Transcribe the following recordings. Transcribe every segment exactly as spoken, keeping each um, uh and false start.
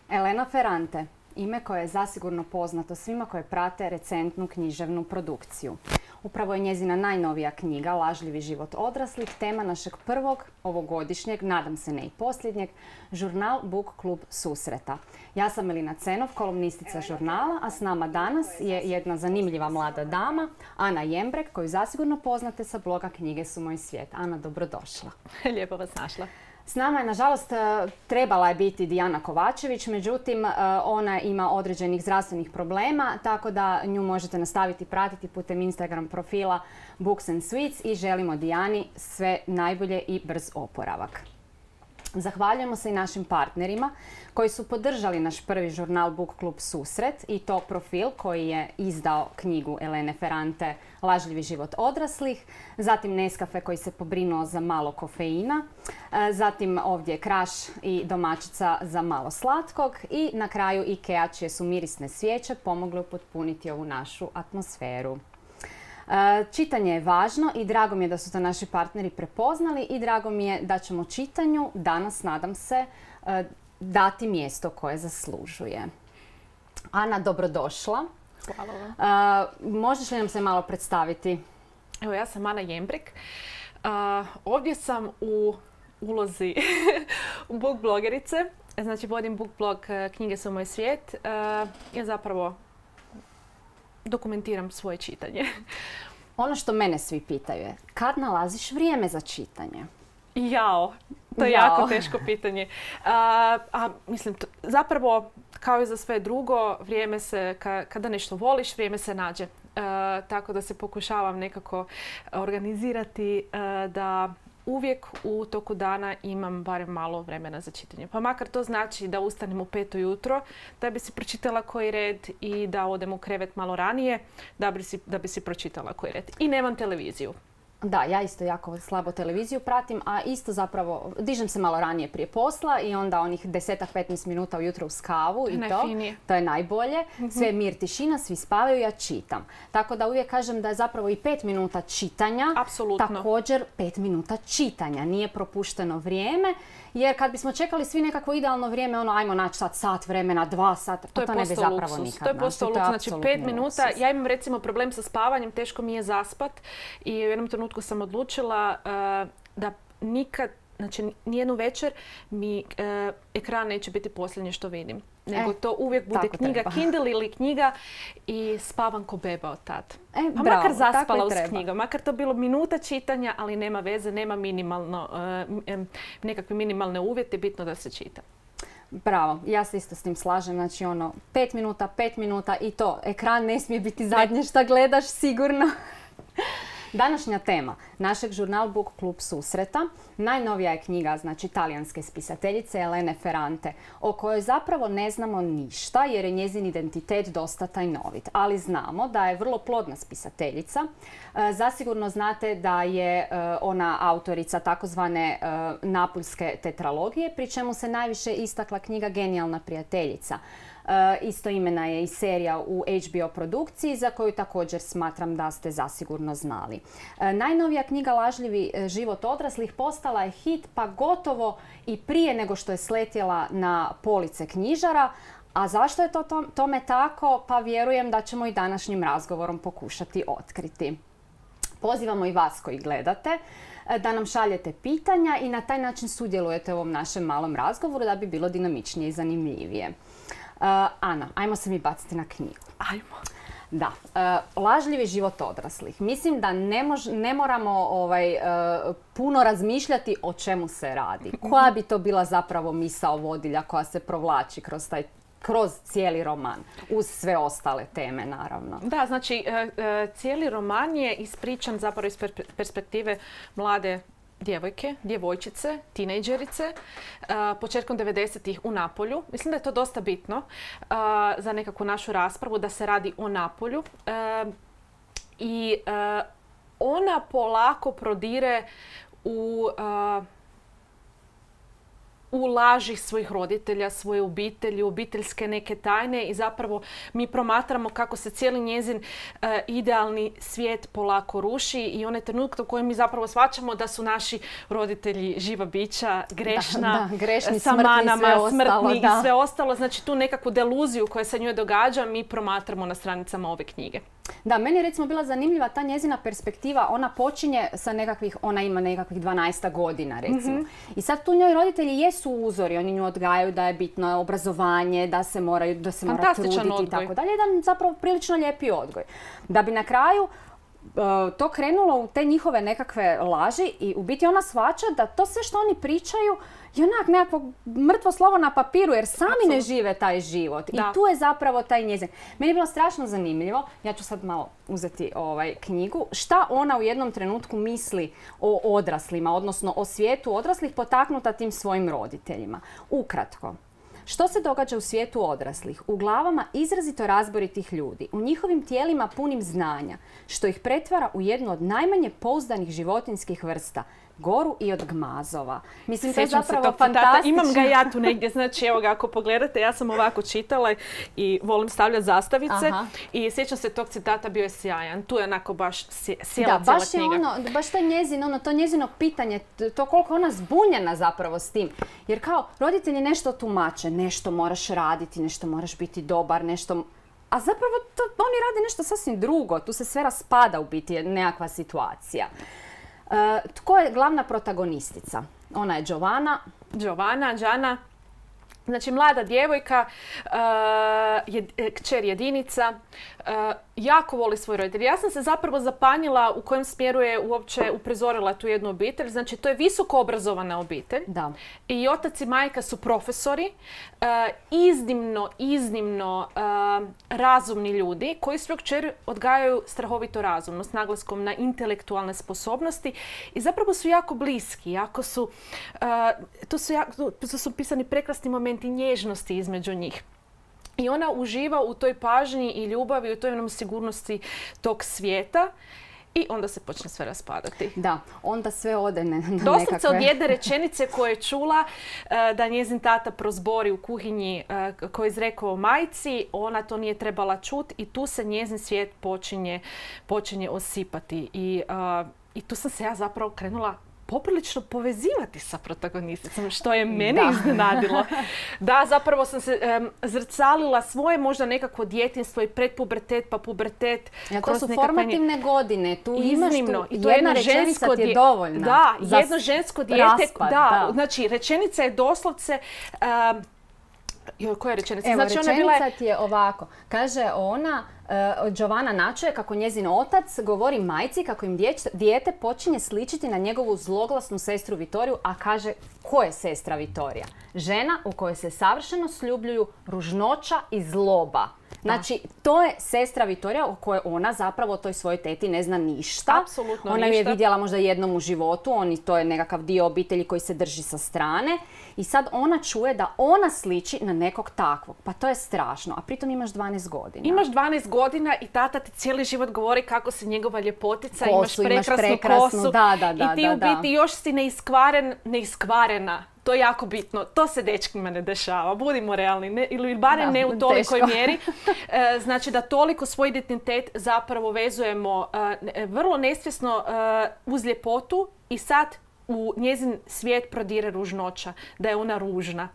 Elena Ferrante, ime koje je zasigurno poznato svima koje prate recentnu književnu produkciju. Upravo je njezina najnovija knjiga, Lažljivi život odraslih, tema našeg prvog ovogodišnjeg, nadam se ne i posljednjeg, žurnal Book Klub susreta. Ja sam Elina Cenov, kolumnistica žurnala, a s nama danas je jedna zanimljiva mlada dama, Ana Jembrek, koju zasigurno poznate sa bloga Knjige su moj svijet. Ana, dobrodošla. Lijepo vas našla. S nama je, nažalost, trebala je biti Dijana Kovačević, međutim, ona ima određenih zdravstvenih problema, tako da nju možete nastaviti pratiti putem Instagram profila Books and Sweets i želimo Dijani sve najbolje i brz oporavak. Zahvaljujemo se i našim partnerima koji su podržali naš prvi žurnal Book Klub susret i to Profil koji je izdao knjigu Elene Ferrante Lažljivi život odraslih, zatim Nescafe koji se pobrinuo za malo kofeina, zatim ovdje Kraš i domaćica za malo slatkog i na kraju Ikea čije su mirisne svijeće pomogle upotpuniti ovu našu atmosferu. Čitanje je važno i drago mi je da su to naši partneri prepoznali i drago mi je da ćemo čitanju danas, nadam se, dati mjesto koje zaslužuje. Ana, dobrodošla. Hvala vam. Možeš li nam se malo predstaviti? Evo, ja sam Ana Jembrek. Ovdje sam u ulozi book blogerice. Znači, vodim book blog Knjige su moj svijet. Ja zapravo dokumentiram svoje čitanje. Ono što mene svi pitaju je, kad nalaziš vrijeme za čitanje? Jao, to je Jao. jako teško pitanje. A, a mislim, to, zapravo, kao i za sve drugo, vrijeme se, ka, kada nešto voliš, vrijeme se nađe. A, tako da se pokušavam nekako organizirati a, da uvijek u toku dana imam barem malo vremena za čitanje. Pa makar to znači da ustanem u pet ujutro, da bi si pročitala koji red i da odem u krevet malo ranije, da bi si, da bi si pročitala koji red. I nemam televiziju. Da, ja isto jako slabo televiziju pratim, a isto zapravo dižem se malo ranije prije posla i onda onih deset do petnaest minuta ujutro uz kavu i to, to je najbolje. Sve je mir, tišina, svi spavaju, ja čitam. Tako da uvijek kažem da je zapravo i pet minuta čitanja, apsolutno, također pet minuta čitanja. Nije propušteno vrijeme, jer kad bismo čekali svi nekakvo idealno vrijeme, ono ajmo naći sad sat vremena, dva sata, to, to ne bi zapravo nikad. To je postao luksuz. Znači pet minuta, ja imam recimo problem sa spavanjem, teško mi je zaspat i u jednom trenutku sam odlučila uh, da nikad, znači nijednu večer mi uh, ekran neće biti posljednje što vidim. Nego e, to uvijek bude knjiga, treba. Kindle ili knjiga i spavam ko beba od tad. E, pa bravo, makar zaspala uz treba. knjigom, makar to bilo minuta čitanja, ali nema veze, nema minimalno, uh, nekakve minimalne uvjete, bitno da se čita. Bravo, ja se isto s tim slažem, znači ono, pet minuta, pet minuta i to, ekran ne smije biti zadnje šta gledaš sigurno. Današnja tema našeg žurnal Book Klub susreta, najnovija je knjiga, znači talijanske spisateljice Elene Ferrante, o kojoj zapravo ne znamo ništa jer je njezin identitet dosta tajnovit. Ali znamo da je vrlo plodna spisateljica. E, zasigurno znate da je e, ona autorica takozvane e, napuljske tetralogije, pri čemu se najviše istakla knjiga Genijalna prijateljica. E, isto imena je i serija u H B O produkciji za koju također smatram da ste zasigurno znali. E, najnovija knjiga Lažljivi život odraslih postala je hit pa gotovo i prije nego što je sletjela na police knjižara. A zašto je to tome tako? Pa vjerujem da ćemo i današnjim razgovorom pokušati otkriti. Pozivamo i vas koji gledate da nam šaljete pitanja i na taj način sudjelujete u ovom našem malom razgovoru da bi bilo dinamičnije i zanimljivije. Uh, Ana, ajmo se mi baciti na knjigu. Ajmo. Da, uh, Lažljivi život odraslih. Mislim da ne, mož, ne moramo ovaj, uh, puno razmišljati o čemu se radi. Koja bi to bila zapravo misao vodilja koja se provlači kroz taj kroz cijeli roman, uz sve ostale teme, naravno. Da, znači, cijeli roman je ispričan zapravo iz perspektive mlade djevojke, djevojčice, tinejdžerice, početkom devedesetih u Napolju. Mislim da je to dosta bitno za nekakvu našu raspravu, da se radi o Napolju. I ona polako prodire u u laži svojih roditelja, svoje obitelji, obiteljske neke tajne i zapravo mi promatramo kako se cijeli njezin uh, idealni svijet polako ruši i onaj trenutak u kojem mi zapravo shvaćamo da su naši roditelji živa bića, grešna, da, da, grešni, sa smrtni, manama, sve ostalo, smrtni da. i sve ostalo. Znači tu nekakvu deluziju koja se njoj događa mi promatramo na stranicama ove knjige. Da, meni je recimo bila zanimljiva ta njezina perspektiva. Ona počinje sa nekakvih, ona ima nekakvih dvanaest godina recimo. Mm-hmm. I sad tu njoj roditelji jesu uzori, oni nju odgajaju da je bitno obrazovanje, da se moraju, da se mora truditi i tako dalje. Jedan zapravo prilično lijepi odgoj. Da bi na kraju to krenulo u te njihove nekakve laži i u biti ona shvaća da to sve što oni pričaju je onak nekakvo mrtvo slovo na papiru jer sami Absolut. Ne žive taj život. Da. I tu je zapravo taj njezin. Meni je bilo strašno zanimljivo, ja ću sad malo uzeti ovaj knjigu, šta ona u jednom trenutku misli o odraslima, odnosno o svijetu odraslih potaknuta tim svojim roditeljima. Ukratko. Što se događa u svijetu odraslih? U glavama izrazito razboritih ljudi, u njihovim tijelima punim znanja, što ih pretvara u jednu od najmanje pouzdanih životinjskih vrsta, goru i od gmazova. Mislim, to je zapravo fantastično. Imam ga ja tu negdje, znači evo ga, ako pogledate, ja sam ovako čitala i volim stavljati zastavice. Aha. I sjećam se tog citata, bio je sjajan. Tu je onako baš sjela cijela knjiga. Da, baš je ono, baš to njezino, ono, to njezino pitanje, to koliko ona zbunjena zapravo s tim. Jer kao, roditelji nešto tumače, nešto moraš raditi, nešto moraš biti dobar, nešto... A zapravo to, oni rade nešto sasvim drugo, tu se sve raspada u biti nekakva situacija. Uh, tko je glavna protagonistica? Ona je Giovanna. Giovanna, Gianna. Znači, mlada djevojka, uh, je, kćer jedinica, uh, jako voli svoj roditelj. Ja sam se zapravo zapanjila u kojem smjeru je uopće uprizorila tu jednu obitelj. Znači, to je visoko obrazovana obitelj. Da. I otac i majka su profesori, uh, iznimno, iznimno uh, razumni ljudi koji svoju kćer odgajaju strahovito razumno, s naglaskom na intelektualne sposobnosti i zapravo su jako bliski, jako su, uh, tu su, jako, tu su pisani prekrasni momenti i nježnosti između njih. I ona uživa u toj pažnji i ljubavi, u toj jednom sigurnosti tog svijeta i onda se počne sve raspadati. Da, onda sve ode na nekakve... Doslovce od jedne rečenice koje je čula uh, da njezin tata prozbori u kuhinji uh, koji je izrekao majci, ona to nije trebala čuti i tu se njezin svijet počinje, počinje osipati. I, uh, I tu sam se ja zapravo krenula poprilično povezivati sa protagonisticom, što je mene da. iznenadilo. Da, zapravo sam se um, zrcalila svoje možda nekako djetinjstvo i predpubertet pa pubertet. Ja, to su formativne nje... godine. Tu Iznimno. imaš tu, I to jedna rečenica ti je dovoljna. Da, jedno žensko dijete. Raspad, da, da. Znači, rečenica je doslovce... Um, joj, koja je rečenica? Evo, znači, rečenica ona bila... ti je ovako. Kaže ona... Uh, Giovanna načuje kako njezin otac govori majci kako im djeć, dijete počinje sličiti na njegovu zloglasnu sestru Vitoriju, a kaže ko je sestra Vitorija? Žena u kojoj se savršeno sljubljuju ružnoća i zloba. Znači, to je sestra Vitorija o kojoj ona zapravo o toj svojoj teti ne zna ništa. Apsolutno ona ništa. Ona je vidjela možda jednom u životu, oni, to je nekakav dio obitelji koji se drži sa strane. I sad ona čuje da ona sliči na nekog takvog. Pa to je strašno, a pritom imaš dvanaest godina. Imaš dvanaest godina i tata ti cijeli život govori kako si njegova ljepotica, kosu, imaš prekrasnu, imaš prekrasnu kosu. Da, da, da, i ti da, u biti još si neiskvaren, neiskvarena. To je jako bitno. To se dečkima ne dešava. Budimo realni. Ne, ili barem da, ne u tolikoj teško. mjeri. E, znači da toliko svoj identitet zapravo vezujemo e, vrlo nesvjesno e, uz ljepotu i sad u njezin svijet prodire ružnoća. Da je ona ružna.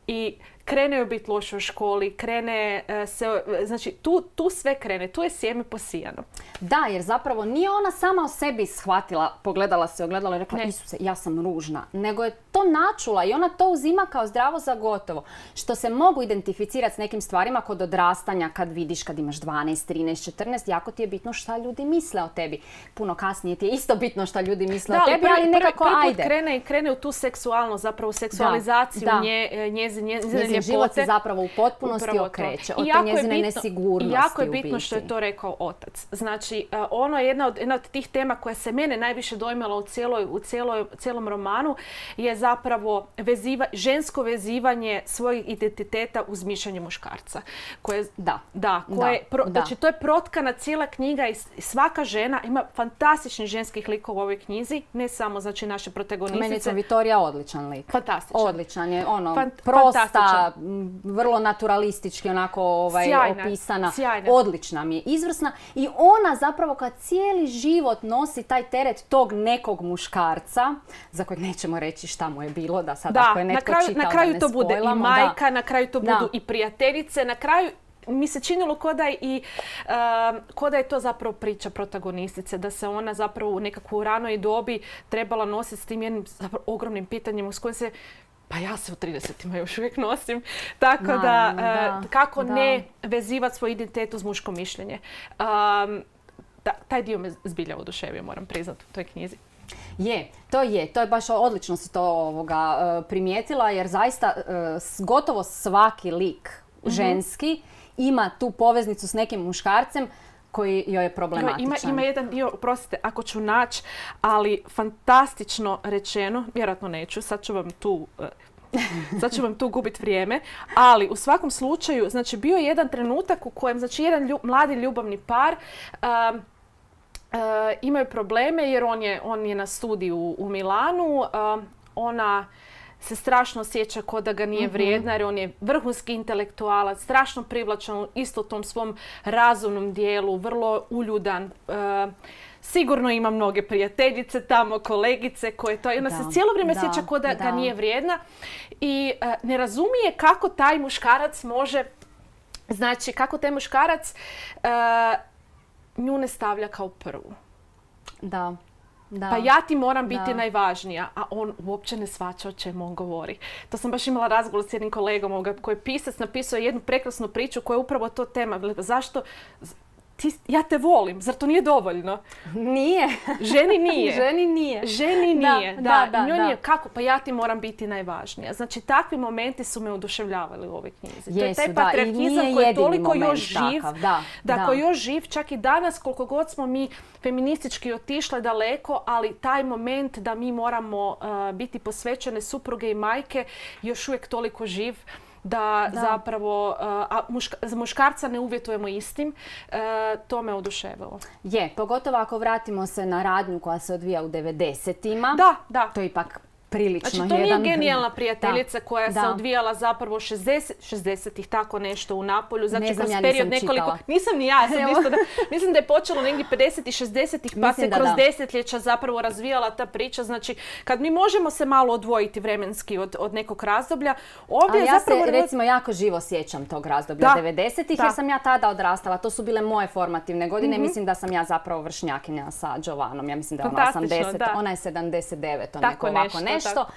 I krene joj biti loše u školi, krene se, znači tu, tu sve krene, tu je sjeme posijano. Da, jer zapravo nije ona sama o sebi shvatila, pogledala se, ogledala i rekla, ne. Isuse, ja sam ružna, nego je to načula i ona to uzima kao zdravo za gotovo. Što se mogu identificirati s nekim stvarima kod odrastanja, kad vidiš, kad imaš dvanaest, trinaest, četrnaest, jako ti je bitno šta ljudi misle o tebi. Puno kasnije ti je isto bitno šta ljudi misle da, o tebi, prvi, ali nekako prvi, prvi ajde. Krene, krene u tu seksualnost, zapravo seksualizaciju da, da. Nje, njezine njezine ljepote. Njezin život se zapravo u potpunosti okreće od te njezine bitno, nesigurnosti. Jako je bitno što je to rekao otac. Znači, ono je jedna od, jedna od tih tema koja se mene najviše dojmala u, cijeloj, u cijeloj, cijelom romanu je zapravo veziva, žensko vezivanje svojeg identiteta uz mišljenje muškarca. Koje, da. Da, koje, da, pro, da. Znači, to je protkana cijela knjiga i svaka žena ima fantastičnih ženskih likova u ovoj knjizi, ne samo znači naše protagonistice. Meni je to Vitorija odličan lik. Fantastičan. Odličan je, ono, Fant, prosta, vrlo naturalistički onako ovaj, sjajna, opisana. Sjajna. Odlična mi je, izvrsna. I ona zapravo kad cijeli život nosi taj teret tog nekog muškarca, za kojeg nećemo reći šta mu je bilo, da sad da, ako je netko na kraju, čitao na kraju da ne to bude i majka, da. Na kraju to budu da. I prijateljice, na kraju mi se činilo ko da, i, uh, ko da je to zapravo priča protagonistice, da se ona zapravo u nekakvu ranoj dobi trebala nositi s tim jednim zapravo ogromnim pitanjem s kojim se, pa ja se u tridesetima još uvijek nosim, tako Naravno, da, uh, da kako da. ne vezivati svoj identitet uz muško mišljenje. Um, da, taj dio me zbilja oduševio, moram priznati u toj knjizi. Je, to je. To je baš odlično si to ovoga, primijetila jer zaista gotovo svaki lik mm-hmm. ženski ima tu poveznicu s nekim muškarcem koji joj je problematičan. Ima, ima jedan dio, oprostite, ako ću naći, ali fantastično rečeno, vjerojatno neću, sad ću vam tu... Sad ću vam tu gubiti vrijeme, ali u svakom slučaju, znači bio je jedan trenutak u kojem, znači jedan ljub, mladi ljubavni par um, Uh, imaju probleme jer on je, on je na studiju u, u Milanu. Uh, ona se strašno osjeća kao da ga nije vrijedna jer on je vrhunski intelektualac, strašno privlačan isto u tom svom razumnom dijelu, vrlo uljudan. Uh, sigurno ima mnoge prijateljice tamo, kolegice koje to... I ona da, se cijelo vrijeme da, osjeća kao da, da ga nije vrijedna i uh, ne razumije kako taj muškarac može... Znači, kako taj muškarac... Uh, nju ne stavlja kao prvu. Da. Da. Pa ja ti moram biti da. najvažnija, a on uopće ne shvaća o čemu on govori. To sam baš imala razgovor s jednim kolegom ovoga, koji je pisac napisao jednu prekrasnu priču koja je upravo to tema. Zašto? Ti, ja te volim, zar to nije dovoljno? Nije. Ženi nije. Ženi nije. Ženi nije, da. da, da, da, da. da. Kako? Pa ja ti moram biti najvažnija. Znači, takvi momenti su me oduševljavali u ovoj knjizi. Jesu, to je taj patriarhizam koji je toliko još živ. Takav, da, da, da. koji je još živ, čak i danas, koliko god smo mi feministički otišle daleko, ali taj moment da mi moramo uh, biti posvećene supruge i majke još uvijek toliko živ. Da, da zapravo, a muška, muškarca ne uvjetujemo istim, e, to me oduševilo. Je, pogotovo ako vratimo se na radnju koja se odvija u devedesetima. Da, da. To je ipak prilično znači, to jedan... nije genijalna prijateljica da, koja da. se odvijala zapravo šezdesetih tako nešto u Napolju. Znači, ne znam, kroz ja period nisam nekoliko... čitala. Nisam ni ja, sam isto da, mislim da je počelo negdje pedesetih, šezdesetih pa mislim se kroz da. desetljeća zapravo razvijala ta priča. Znači, kad mi možemo se malo odvojiti vremenski od, od nekog razdoblja, ovdje je ja zapravo... se recimo jako živo sjećam tog razdoblja devedesetih jer sam ja tada odrastala. To su bile moje formativne godine. Mm-hmm. Mislim da sam ja zapravo vršnjakinja sa Jovanom. Ja mislim da je ona osamdeset, da. Ona je sedamdeset devet, tako neko ovako nešto. nešto. Tako.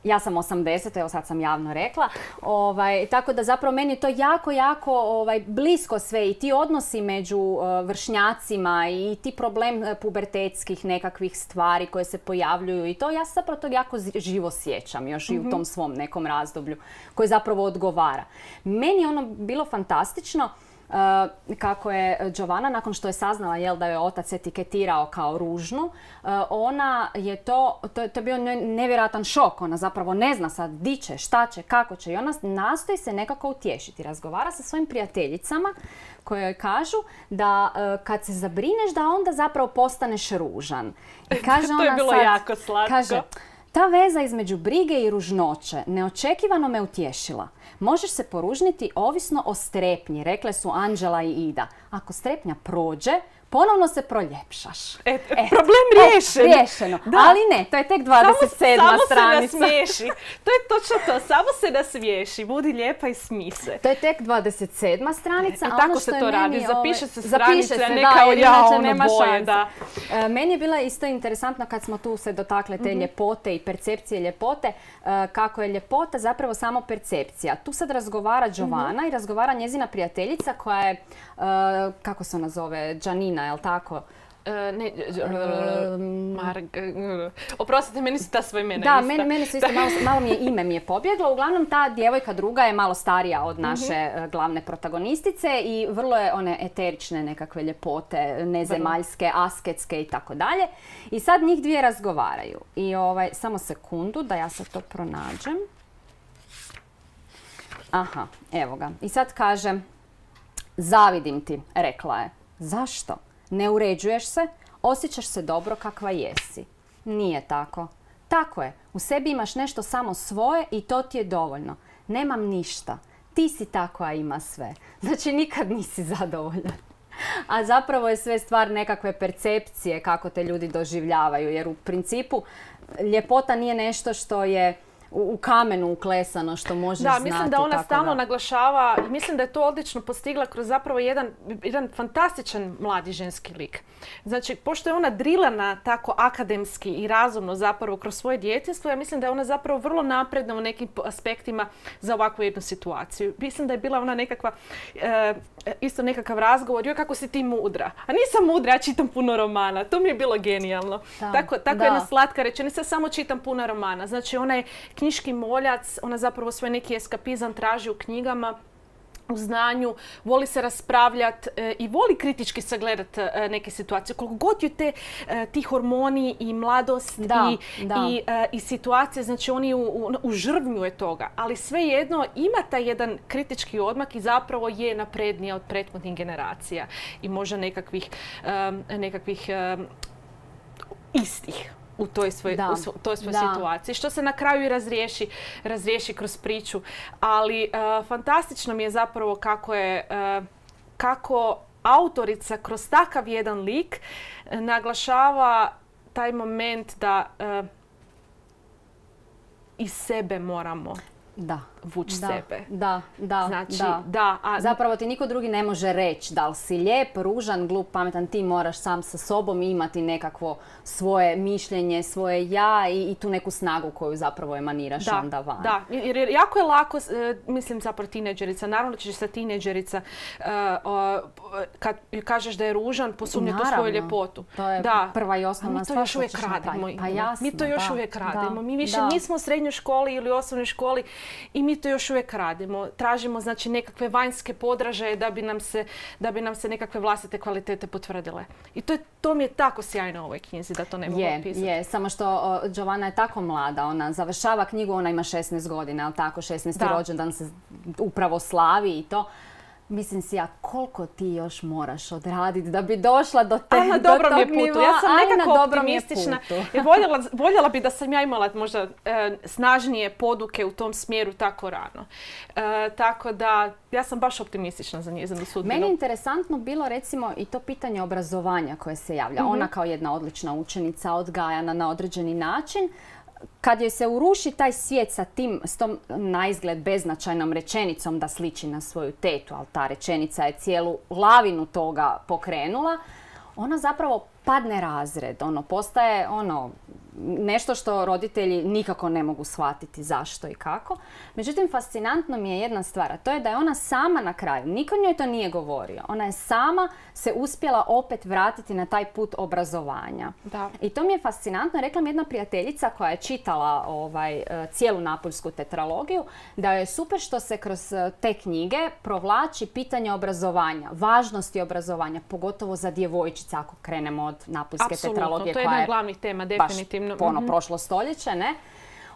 Ja sam osamdeset, evo sad sam javno rekla. Ovaj, tako da zapravo meni je to jako, jako ovaj, blisko sve i ti odnosi među uh, vršnjacima i ti problem uh, pubertetskih nekakvih stvari koje se pojavljuju i to ja se zapravo to jako živo sjećam još mm-hmm. i u tom svom nekom razdoblju koje zapravo odgovara. Meni je ono bilo fantastično. Uh, kako je Jovana, nakon što je saznala jel, da je otac etiketirao kao ružnu, uh, ona je to, to, to je bio nevjerojatan šok. Ona zapravo ne zna sad di će, šta će, kako će i ona nastoji se nekako utješiti. Razgovara sa svojim prijateljicama koje joj kažu da uh, kad se zabrineš da onda zapravo postaneš ružan. I kaže to ona je bilo sad, jako slatko. Kaže, ta veza između brige i ružnoće neočekivano me utješila. Možeš se poružniti ovisno o strepnji, rekle su Anđela i Ida. Ako strepnja prođe, ponovno se proljepšaš. E, e, problem riješen. E, riješeno. Da. Ali ne, to je tek dvadeset sedma samo, stranica. Samo se nasmiješi. To je točno to. Samo se nasmiješi. Budi lijepa i smij se. To je tek dvadeset sedma stranica. E, a tako ono se što to je radi. meni, Zapiše se stranica, stranica, se, ne da, kao ja, ono nema boje. šanse. Da. E, meni je bila isto interesantno kad smo tu se dotakle te mm-hmm. ljepote i percepcije ljepote, e, kako je ljepota zapravo samo percepcija. Tu sad razgovara Jovana mm-hmm. i razgovara njezina prijateljica koja je, e, kako se ona zove, Janina, je li tako? Ne, Marg... Oprostite, meni su ta svoja imena da, ista. Da, meni su isto, malo, malo mi je ime mi je pobjeglo. Uglavnom, ta djevojka druga je malo starija od naše mm-hmm. glavne protagonistice i vrlo je one eterične nekakve ljepote, nezemaljske, asketske i tako dalje. I sad njih dvije razgovaraju. I ovaj, samo sekundu da ja sad to pronađem. Aha, evo ga. I sad kaže, zavidim ti, rekla je. Zašto? Ne uređuješ se, osjećaš se dobro kakva jesi. Nije tako. Tako je, u sebi imaš nešto samo svoje i to ti je dovoljno. Nemam ništa. Ti si ta koja ima sve. Znači nikad nisi zadovoljan. A zapravo je sve stvar nekakve percepcije kako te ljudi doživljavaju. Jer u principu ljepota nije nešto što je u kamenu uklesano, što možeš znati. Da, mislim da ona stalno naglašava i mislim da je to odlično postigla kroz zapravo jedan, jedan fantastičan mladi ženski lik. Znači, pošto je ona drilana tako akademski i razumno zapravo kroz svoje djetinjstvo, ja mislim da je ona zapravo vrlo napredna u nekim aspektima za ovakvu jednu situaciju. Mislim da je bila ona nekakva, e, isto nekakav razgovor, joj kako si ti mudra. A nisam mudra, ja čitam puno romana. To mi je bilo genijalno. Da, tako tako da. Jedna slatka rečenica, samo čitam puno romana. Znači, ona je knjiški moljac, ona zapravo svoj neki eskapizam traži u knjigama, u znanju, voli se raspravljati e, i voli kritički sagledati e, neke situacije. Koliko god ju te, e, ti hormoni i mladost da, i, da. i, e, i situacije, znači oni u, u, u žrvnju je toga. Ali svejedno ima taj jedan kritički odmak i zapravo je naprednija od prethodnih generacija i možda nekakvih, e, nekakvih e, istih u toj svojoj svoj situaciji. Što se na kraju i razriješi, razriješi kroz priču. Ali uh, fantastično mi je zapravo kako je uh, kako autorica kroz takav jedan lik uh, naglašava taj moment da uh, iz sebe moramo da. vući da, sebe. Da, da, znači, da. da a... Zapravo ti niko drugi ne može reći da li si lijep, ružan, glup, pametan. Ti moraš sam sa sobom imati nekakvo svoje mišljenje, svoje ja i, i tu neku snagu koju zapravo emaniraš da, onda van. Da, jer, jer jako je lako, mislim zapravo tineđerica, naravno da ćeš sa tineđerica uh, uh, kad kažeš da je ružan, posumnjati u svoju ljepotu. To je da. prva i osnovna stvar. Mi to još uvijek radimo. Pa jasno, mi to još da, uvijek radimo. Da, mi više da. nismo u srednjoj školi ili osnovnoj školi i mi to još uvijek radimo. Tražimo znači nekakve vanjske podražaje da bi nam se, da bi nam se nekakve vlastite kvalitete potvrdile. I to, je, to mi je tako sjajno u ovoj knjizi da to ne mogu opisati. Je, samo što o, Giovanna je tako mlada. Ona završava knjigu, ona ima šesnaest godina, ali tako, šesnaesti rođendan se upravo slavi i to. Mislim si ja, koliko ti još moraš odraditi da bi došla do, te, Aj, na do dobrom tog je putu. nivoa. Ja sam Aj, nekako na optimistična. I voljela, voljela bi da sam ja imala možda e, snažnije poduke u tom smjeru tako rano. E, tako da ja sam baš optimistična za njezinu sudbinu. Meni je interesantno bilo recimo i to pitanje obrazovanja koje se javlja. Mm-hmm. Ona kao jedna odlična učenica, odgajana na određeni način. Kad joj se uruši taj svijet sa tim, s tom naizgled beznačajnom rečenicom da sliči na svoju tetu, ali ta rečenica je cijelu lavinu toga pokrenula, ona zapravo padne razred. Ono, postaje ono, nešto što roditelji nikako ne mogu shvatiti zašto i kako. Međutim, fascinantno mi je jedna stvar, a to je da je ona sama na kraju, niko njoj to nije govorio, ona je sama se uspjela opet vratiti na taj put obrazovanja. Da. I to mi je fascinantno. Rekla mi jedna prijateljica koja je čitala ovaj, cijelu Napuljsku tetralogiju, da je super što se kroz te knjige provlači pitanje obrazovanja, važnosti obrazovanja, pogotovo za djevojčice ako krenemo od Napuljske Apsolutno, tetralogije. to je jedna od glavnih tema, definitivno. Baš ono, prošlo stoljeće, ne?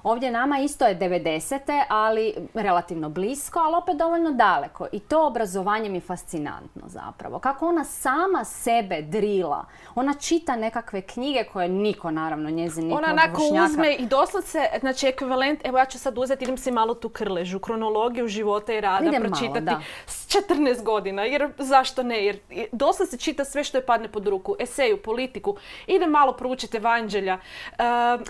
Ovdje nama isto je devedesete, ali relativno blisko, ali opet dovoljno daleko. I to obrazovanje mi je fascinantno zapravo. Kako ona sama sebe drila. Ona čita nekakve knjige koje niko, naravno, njezin nikog Ona onako uzme i doslovce, znači ekvivalent, evo ja ću sad uzeti, idem si malo tu krležu, kronologiju života i rada idem pročitati malo, s četrnaest godina, jer zašto ne, jer doslovce čita sve što je padne pod ruku, eseju, politiku, ide malo proučiti evanđelja. Uh,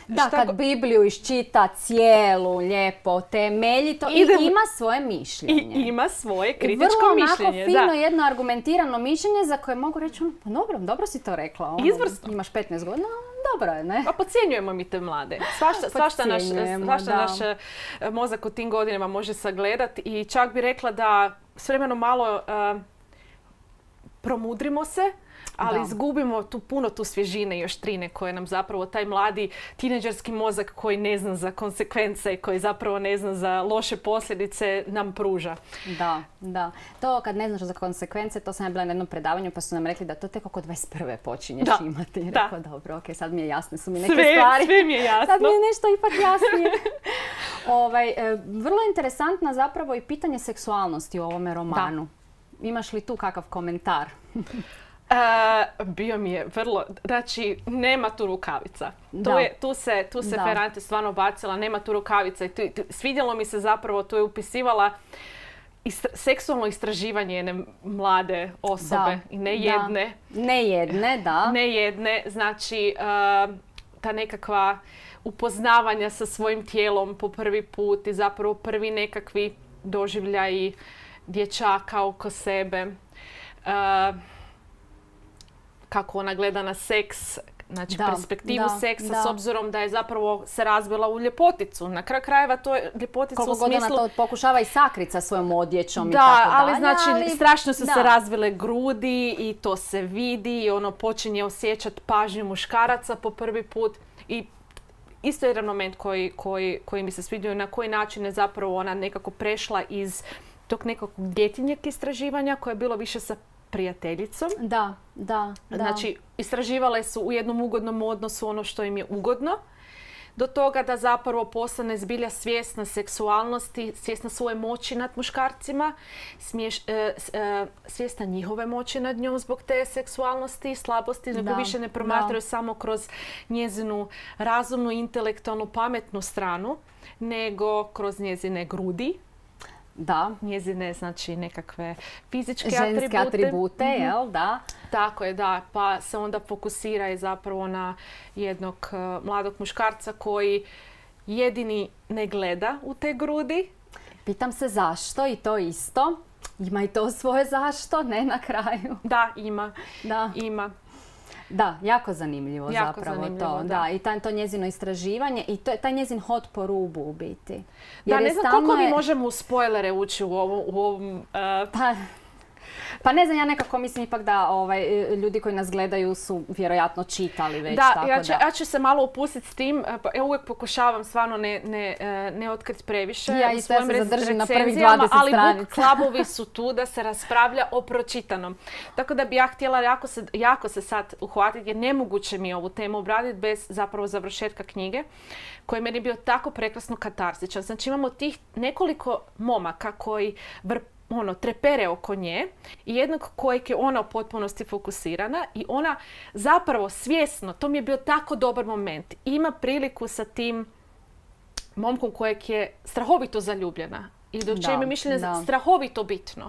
da, kad go... Bibliju iščita cijelu, lijepo, temeljito i Idem... ima svoje mišljenje. I ima svoje kritičko vrlo mišljenje. Vrlo onako fino, da. jedno argumentirano mišljenje za koje mogu reći, pa dobro, dobro si to rekla. Ono, izvrsno. Imaš petnaest godina, dobro je, ne? Pa podcjenjujemo mi te mlade. Svašta, svašta, naš, svašta naš mozak u tim godinama može sagledati i čak bi rekla da s vremenom malo uh, promudrimo se, ali Da. izgubimo tu puno tu svježine i oštrine koje nam zapravo taj mladi tineđerski mozak koji ne zna za konsekvence i koji zapravo ne zna za loše posljedice nam pruža. Da, da. To kad ne znaš za konsekvence, to sam ja bila na jednom predavanju pa su nam rekli da to tek oko dvadeset prve počinješ Da. imati. I Da. rekao, dobro, ok, sad mi je jasne su mi neke Sve, stvari. sve mi je jasno. Sad mi je nešto ipak jasnije. ovaj, e, vrlo interesantna zapravo i pitanje seksualnosti u ovome romanu. Imaš li tu kakav komentar? Uh, bio mi je vrlo, znači nema tu rukavica. Tu, Da. je, tu se, tu se Da. Ferrante stvarno bacila, nema tu rukavica. I tu, tu, svidjelo mi se zapravo, tu je upisivala istra, seksualno istraživanje jedne mlade osobe Da. i ne Da. jedne. Ne jedne, da. Ne jedne, znači uh, ta nekakva upoznavanja sa svojim tijelom po prvi put i zapravo prvi nekakvi doživljaji dječaka oko sebe. Uh, kako ona gleda na seks, znači Da, perspektivu da, seksa da. s obzirom da je zapravo se razvila u ljepoticu. Na kraju krajeva to je ljepotica Koliko u god smislu... ona to pokušava i sakriti sa svojom odjećom i Da, tako ali dalje, znači ali- strašno su da. se razvile grudi i to se vidi i ono počinje osjećati pažnju muškaraca po prvi put i isto je jedan moment koji, koji, koji mi se svidio na koji način je zapravo ona nekako prešla iz tog nekakvog djetinjeg istraživanja koje je bilo više sa prijateljicom. Da, da, da. Znači, istraživale su u jednom ugodnom odnosu ono što im je ugodno, do toga da zapravo postane zbilja svjesna seksualnosti, svjesna svoje moći nad muškarcima, smiješ, e, s- e, svjesna njihove moći nad njom zbog te seksualnosti i slabosti, nego Da, više ne da. promatraju samo kroz njezinu razumnu, intelektualnu, pametnu stranu, nego kroz njezine grudi, Da. njezine znači nekakve fizičke Ženske atribute. atribute, Mhm. jel, da. Tako je, da. Pa se onda fokusira i zapravo na jednog uh, mladog muškarca koji jedini ne gleda u te grudi. Pitam se zašto i to isto. Ima i to svoje zašto, ne na kraju. Da, ima. Da, Ima. da, jako zanimljivo Jako zapravo zanimljivo, to. da. Da. I taj, to njezino istraživanje i to, taj njezin hod po rubu u biti. Da, Jer ne je znam stalno koliko mi je- možemo u spoilere ući u ovom... U ovom uh, Pa, pa ne znam, ja nekako mislim ipak da ovaj, ljudi koji nas gledaju su vjerojatno čitali već. da, tako ja ću, da. ja ću se malo upustiti s tim. uh, pa Ja uvijek pokušavam stvarno ne, ne, uh, ne otkriti previše. Ja u isto, ja svojim se rec- zadržim na prvih recenzijama, dvadeset ali book stranica. klubovi su tu da se raspravlja o pročitanom. Tako da bi ja htjela jako se, jako se sad uhvatiti jer nemoguće mi je ovu temu obraditi bez zapravo završetka knjige koji je meni bio tako prekrasno katarzičan. Znači imamo tih nekoliko momaka koji vr, ono, trepere oko nje i jednog kojeg je ona u potpunosti fokusirana i ona zapravo svjesno, to mi je bio tako dobar moment, ima priliku sa tim momkom kojeg je strahovito zaljubljena i do Da, čije je mišljenje da. strahovito bitno.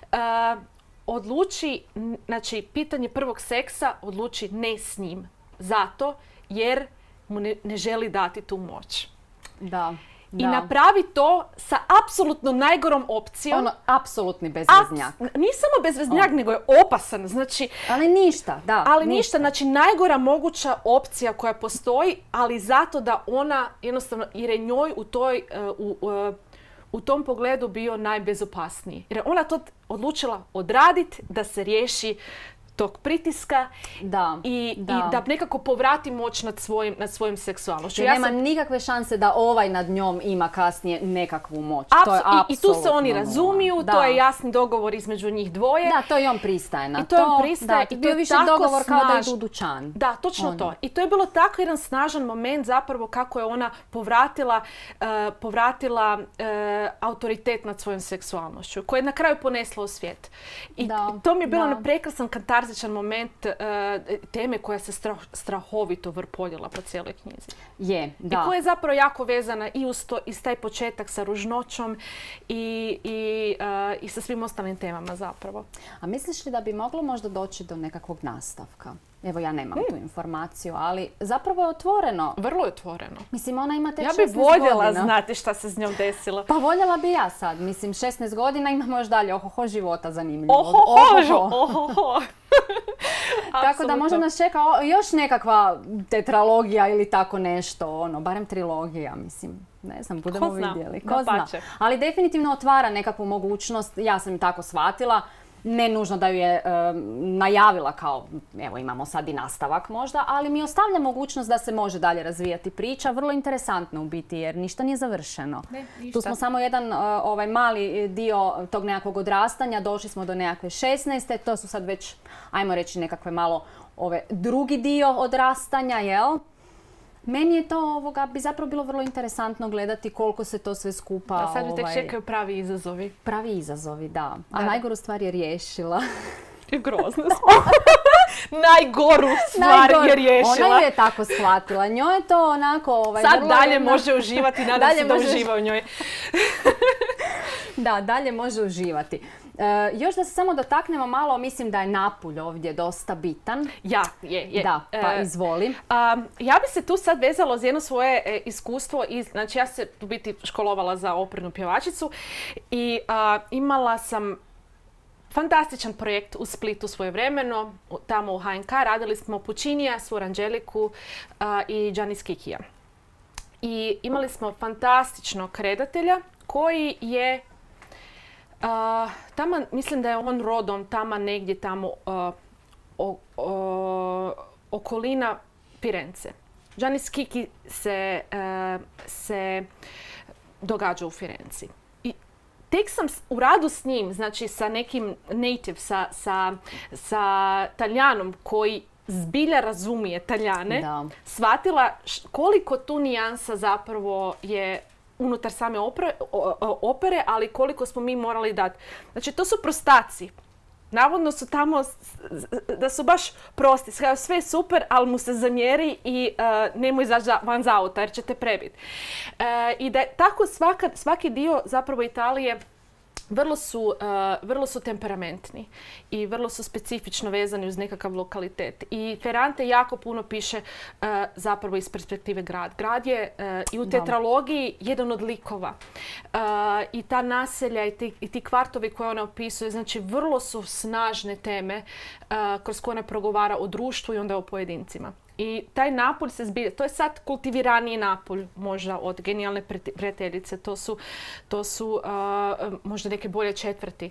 Uh, odluči, n- znači pitanje prvog seksa odluči ne s njim. Zato jer mu ne, ne želi dati tu moć. Da, I da. napravi to sa apsolutno najgorom opcijom. Ono, apsolutni Aps- bezveznjak. Nije samo bezveznjak, nego je opasan. Znači, Ali ništa, da. ali ništa, znači najgora moguća opcija koja postoji, ali zato da ona jednostavno, jer je njoj u toj, uh, u, uh, u tom pogledu bio najbezopasniji. Jer je ona to odlučila odraditi da se riješi tog pritiska Da, i da. i da nekako povrati moć nad svojim, nad svojim seksualnošću. Jer Ja nema sam- nikakve šanse da ovaj nad njom ima kasnije nekakvu moć. Apsu- to je i, I tu se oni apsolutno razumiju, nula. to Da. je jasni dogovor između njih dvoje. Da, to i on pristaje na I to on to. pristaje Da, i to bio je više tako dogovor kao da snaž- idu u dućan. Da, točno Ono. to. I to je bilo tako jedan snažan moment zapravo kako je ona povratila, uh, povratila uh, autoritet nad svojom seksualnošću, koje je na kraju ponesla u svijet. I Da, to mi je bilo da. na prekrasan katarzičan moment uh, teme koja se strah, strahovito vrpoljila po cijeloj knjizi. Je, da. I koja je zapravo jako vezana i uz to, i s taj početak sa ružnoćom i, i, uh, i sa svim ostalim temama zapravo. A misliš li da bi moglo možda doći do nekakvog nastavka? Evo, ja nemam tu informaciju, ali zapravo je otvoreno. Vrlo je otvoreno. Mislim, ona ima tek Ja šesnaest bih voljela godina. znati šta se s njom desilo. Pa voljela bi ja sad. Mislim, šesnaest godina imamo još dalje ohoho života zanimljivo. Ohoho, ohoho. Tako da možda nas čeka o- još nekakva tetralogija ili tako nešto, ono, barem trilogija, mislim. Ne znam, budemo Ko zna, vidjeli. Ko zna. dapače. Ali definitivno otvara nekakvu mogućnost, ja sam tako shvatila, Ne nužno da ju je e, najavila kao, evo imamo sad i nastavak možda, ali mi ostavlja mogućnost da se može dalje razvijati priča. Vrlo interesantno u biti jer ništa nije završeno. Ne, ništa. Tu smo samo jedan e, ovaj mali dio tog nekakvog odrastanja, došli smo do nekakve šesnaeste, to su sad već, ajmo reći, nekakve malo ove drugi dio odrastanja, jel? Meni je to ovoga, bi zapravo bilo vrlo interesantno gledati koliko se to sve skupa... Da, sad mi tek ovaj, čekaju pravi izazovi. Pravi izazovi, da. A Da. najgoru stvar je riješila. Grozno smo. Najgoru stvar Najgor- je riješila. Ona ju je tako shvatila. Njoj je to onako... Ovaj, Sad vrlo dalje jedna- može uživati, nadam Dalje se da može- uživa u njoj. Da, dalje može uživati. E, još da se samo dotaknemo malo, mislim da je Napulj ovdje dosta bitan. Ja, je, je. Da, pa E, izvoli. a, ja bi se tu sad vezala uz jedno svoje e, iskustvo. Iz, znači ja se u biti školovala za opernu pjevačicu i a, imala sam fantastičan projekt u Splitu svojevremeno. u- Tamo u H N K radili smo Puccinija, Svu Anđeliku a, i Giannis Kikija. I imali smo fantastičnog redatelja koji je Uh, taman, mislim da je on rodom tamo negdje tamo uh, o, o, okolina Firence. Giannis Kiki se, uh, se događa u Firenci. I tek sam s- u radu s njim, znači sa nekim native, sa, sa, sa Taljanom koji zbilja razumije Taljane, Da. shvatila š- koliko tu nijansa zapravo je unutar same opere, o- o- opere, ali koliko smo mi morali dati. Znači, to su prostaci. Navodno su tamo, s- s- da su baš prosti. Sve sve je super, ali mu se zamjeri i uh, nemoj izaći za- van za auta jer će te prebiti. Uh, I da je tako svaka, svaki dio zapravo Italije vrlo su, uh, vrlo su temperamentni i vrlo su specifično vezani uz nekakav lokalitet. I Ferrante jako puno piše uh, zapravo iz perspektive grad. Grad je uh, i u Da. tetralogiji jedan od likova. Uh, I ta naselja i ti, i ti kvartovi koje ona opisuje, znači vrlo su snažne teme uh, kroz koje ona progovara o društvu i onda o pojedincima. I taj Napulj se zbilja, to je sad kultiviraniji Napulj možda od Genijalne prete- prijateljice, to su, to su uh, možda neke bolje četvrti,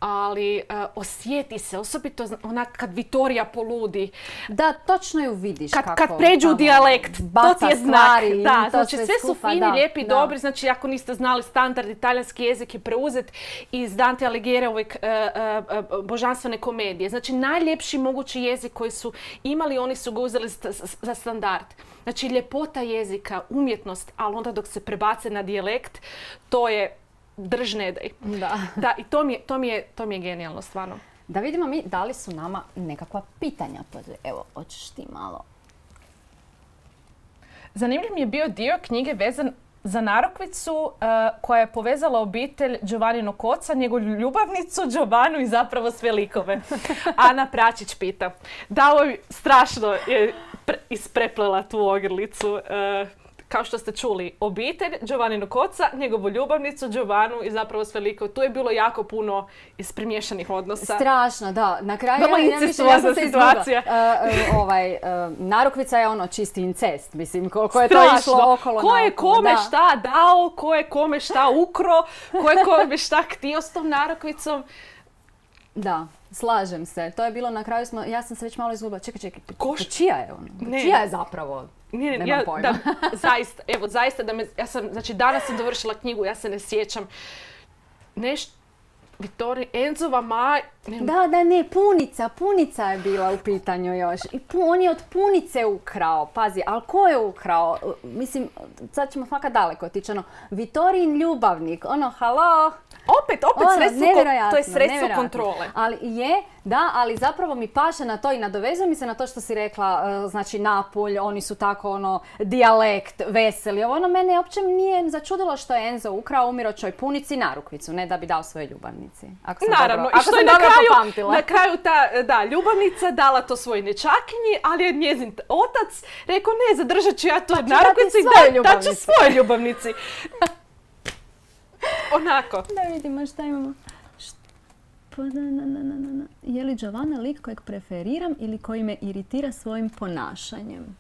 ali uh, osjeti se, osobito zna- onak kad Vitorija poludi, Da, točno ju vidiš kad, kako... kad pređu u tamo dijalekt, to baca ti je znak. stvari i Da, to znači sve su skupa, fini, da, lijepi, da. dobri, znači ako niste znali standard, italijanski jezik je preuzet iz Dante Alighieriove uh, uh, uh, božanstvene komedije. Znači najljepši mogući jezik koji su imali, oni su ga uzeli st- s- za standard. Znači ljepota jezika, umjetnost, ali onda dok se prebace na dijalekt, to je drž ne daj. Da. Da, i to mi je, to mi je, to mi je genijalno, stvarno. Da vidimo mi da li su nama nekakva pitanja. Pa evo, hoćeš ti malo. Zanimljiv mi je bio dio knjige vezan za narukvicu uh, koja je povezala obitelj Giovannino Koca, njegovu ljubavnicu Giovannu i zapravo sve likove. Ana Pračić pita. Da, ovo je strašno je pre- ispreplela tu ogrlicu. Uh, kao što ste čuli, obitelj Giovannino Koca, njegovu ljubavnicu Giovannu i zapravo sve likove. Tu je bilo jako puno ispremiješanih odnosa. Strašno, da. Na kraju Vrlo ja, ja, mislim, ja incestuozna sam se izgubila. situacija. E, e, ovaj, e, narukvica je ono čisti incest, mislim, koliko je to Strašno. išlo okolo Ko je naokolo, kome da. šta dao, ko je kome šta ukro, ko je kome šta htio s tom narukvicom. Da, slažem se. To je bilo na kraju, smo, ja sam se već malo izgubila. Čekaj, čekaj, pa- Koš- pa čija je ono? Pa Ne. čija je zapravo? Ne, ne, Nemam ja, pojma. da, zaista, evo, zaista da me, ja sam, znači danas sam dovršila knjigu, ja se ne sjećam. Nešto, Vittori, Enzova maj, ne, Da, da, ne, punica, punica je bila u pitanju još. I pu, on je od punice ukrao, pazi, ali ko je ukrao? Mislim, sad ćemo fakat daleko otići, ono, Vitorin ljubavnik, ono, halo, opet, opet ono, sredstvo, kon- nevjerojatno, to je sredstvo nevjerojatno. kontrole. Ali je, da, ali zapravo mi paše na to i nadovezuje mi se na to što si rekla, e, znači Napulj, oni su tako ono, dijalekt, veseli, ovo ono, mene uopće nije začudilo što je Enzo ukrao umiročoj punici narukvicu, ne da bi dao svojoj ljubavnici. Ako sam Naravno, dobro, i ako što sam je na dobro kraju, popamtila. na kraju ta da, ljubavnica dala to svoj nečakinji, ali je njezin t- otac rekao ne, zadržat ću ja to ću narukvicu dati i svojoj da, daću ljubavnici. svojoj ljubavnici. Onako. Da vidimo šta imamo. Št- pa da, na, na, na, na, na. Je li Giovanna lik kojeg preferiram ili koji me iritira svojim ponašanjem?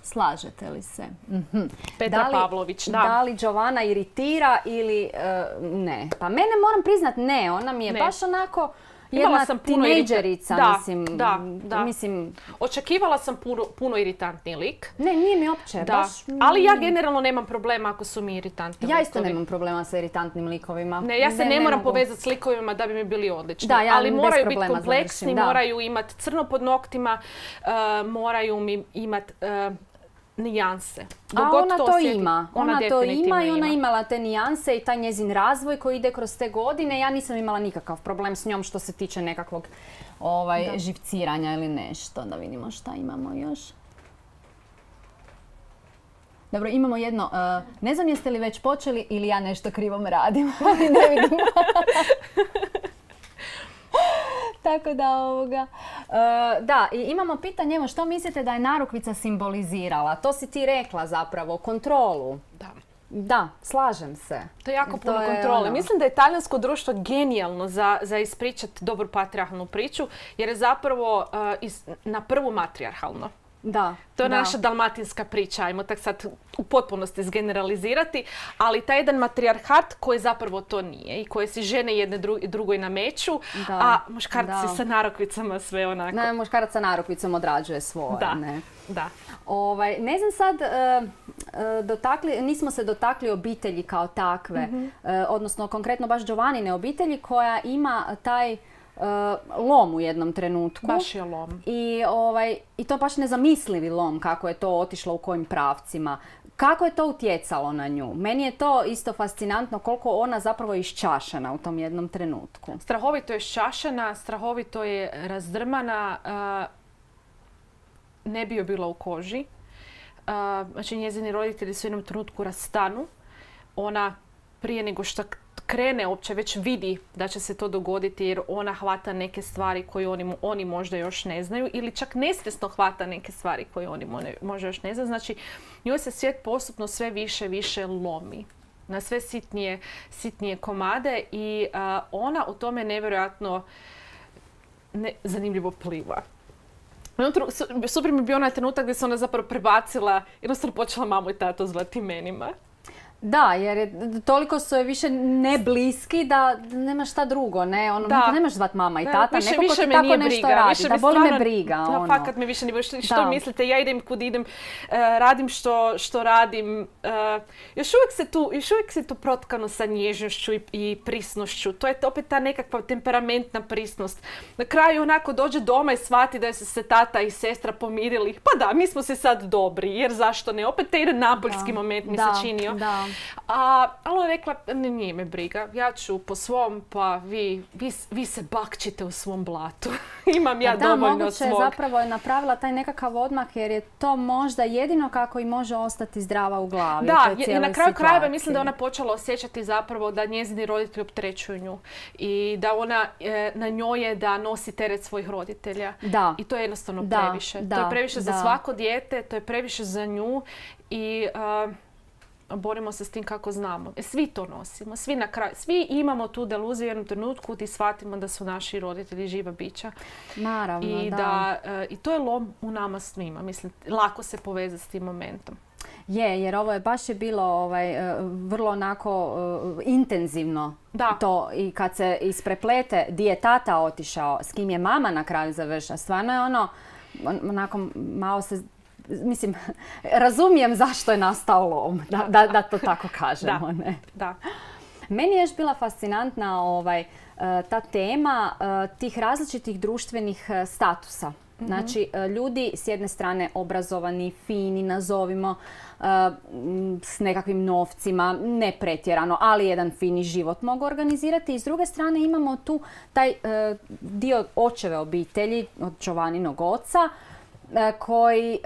Slažete li se? Mhm. Petra Da li- Pavlović, da. Da li Giovanna iritira ili e, ne? Pa mene moram priznat ne, ona mi je Ne. baš onako jedna sam puno tinejdžerica, irita- da, mislim, da, da. mislim... Očekivala sam puno, puno iritantni lik. Ne, nije mi opće, Da. baš... Ali ja generalno nemam problema ako su mi iritantni Ja isto likovi. nemam problema sa iritantnim likovima. Ne, ja se ne, moram mogu. povezati s likovima da bi mi bili odlični. Da, ja ali bez moraju biti problema kompleksni, završim, da. moraju imati crno pod noktima, uh, moraju mi imati uh, nijanse. Dok A god ona to osjetim, ima. Ona, to definitivno ima i ona imala te nijanse i taj njezin razvoj koji ide kroz te godine. Ja nisam imala nikakav problem s njom što se tiče nekakvog ovaj, živciranja ili nešto. Da vidimo šta imamo još. Dobro, imamo jedno, uh, ne znam jeste li već počeli ili ja nešto krivom radim, ali ne vidimo. Tako da ovoga... Uh, da, i imamo pitanje, evo što mislite da je narukvica simbolizirala? To si ti rekla zapravo, kontrolu. Da. Da, slažem se. To je jako To puno je kontrole. ono- Mislim da je talijansko društvo genijalno za, za ispričati dobru patrijarhalnu priču, jer je zapravo uh, is, na prvu matrijarhalno. Da. To je da. naša dalmatinska priča, ajmo tak sad u potpunosti izgeneralizirati, ali taj jedan matrijarhat koji zapravo to nije i koje si žene jedne dru- drugoj nameću, Da, a muškarci da. sa narukvicama sve onako. Ne, muškarac sa narukvicom odrađuje svoje. Da, Ne. da. Ovaj, ne znam sad, e, e, dotakli, nismo se dotakli obitelji kao takve, Mhm. e, odnosno konkretno baš Giovannine obitelji koja ima taj e, lom u jednom trenutku. Baš je lom. I, ovaj, I to baš nezamislivi lom kako je to otišlo u kojim pravcima. Kako je to utjecalo na nju? Meni je to isto fascinantno koliko ona zapravo je iščašena u tom jednom trenutku. Strahovito je šašena, strahovito je razdrmana, a, ne bi joj bila u koži. A, znači njezini roditelji su u jednom trenutku rastanu. Ona prije nego što krene uopće već vidi da će se to dogoditi jer ona hvata neke stvari koje oni, oni možda još ne znaju ili čak nesvjesno hvata neke stvari koje oni možda još ne znaju. Znači njoj se svijet postupno sve više više lomi na sve sitnije, sitnije komade i a, ona u tome nevjerojatno ne, zanimljivo pliva. Super mi je bio onaj trenutak gdje se ona zapravo prebacila, jednostavno počela mamu i tato zvati imenima. Da, jer je, toliko su je više ne bliski da nema šta drugo, ne, ono, Da. nemaš zvat mama i Da, tata, više, neko ko više ti me tako nije nešto briga. radi, Više da me boli me stvarno- briga, Da, ono. fakat me više nije briga. Što, što Da. mislite, ja idem kud idem, e, radim što, što radim. E, još uvijek se tu, još uvijek se tu protkano sa nježnošću i, i prisnošću. To je opet ta nekakva temperamentna prisnost. Na kraju onako dođe doma i shvati da su se tata i sestra pomirili. Pa da, mi smo se sad dobri, jer zašto ne? Opet taj jedan napoljski Da. moment mi Da, se činio. da. A ona je rekla, ne, nije me briga, ja ću po svom, pa vi, vi, vi se bakćite u svom blatu. Imam ja Pa da, dovoljno moguće je svog. zapravo je napravila taj nekakav odmak jer je to možda jedino kako i može ostati zdrava u glavi. u Da, toj i- i cijeloj na kraju krajeva situaciji. mislim da je ona počela osjećati zapravo da njezini roditelji opterećuju nju i da ona, e, na njoj je da nosi teret svojih roditelja. Da. I to je jednostavno Da, previše. da, to je previše za da. svako dijete, to je previše za nju i a, borimo se s tim kako znamo. E, svi to nosimo, svi na kraju, svi imamo tu deluziju u jednom trenutku gdje shvatimo da su naši roditelji živa bića. Naravno, I, da. da, e, I to je lom u nama svima. Mislim, lako se povezati s tim momentom. Je, jer ovo je baš je bilo ovaj, e, vrlo onako e, intenzivno Da. to i kad se ispreplete di je tata otišao, s kim je mama na kraju završila. Stvarno je ono, on- onako malo se, mislim, razumijem zašto je nastao lom, da, da, da to tako kažemo. Ne? Da. Meni je još bila fascinantna ovaj, e, ta tema e, tih različitih društvenih e, statusa. Znači, e, ljudi s jedne strane obrazovani, fini, nazovimo, e, m, s nekakvim novcima, ne pretjerano, ali jedan fini život mogu organizirati. I s druge strane imamo tu taj e, dio očeve obitelji, od Giovanninog oca, e, koji e,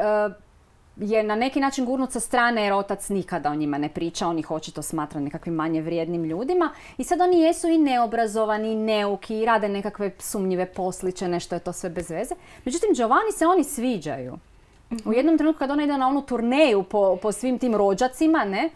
je na neki način gurnut sa strane jer otac nikada o njima ne priča, on ih očito smatra nekakvim manje vrijednim ljudima i sad oni jesu i neobrazovani, i neuki, i rade nekakve sumnjive posliće, nešto je to sve bez veze. Međutim, Giovanni se oni sviđaju. U jednom trenutku kad ona ide na onu turneju po, po svim tim rođacima, ne, oni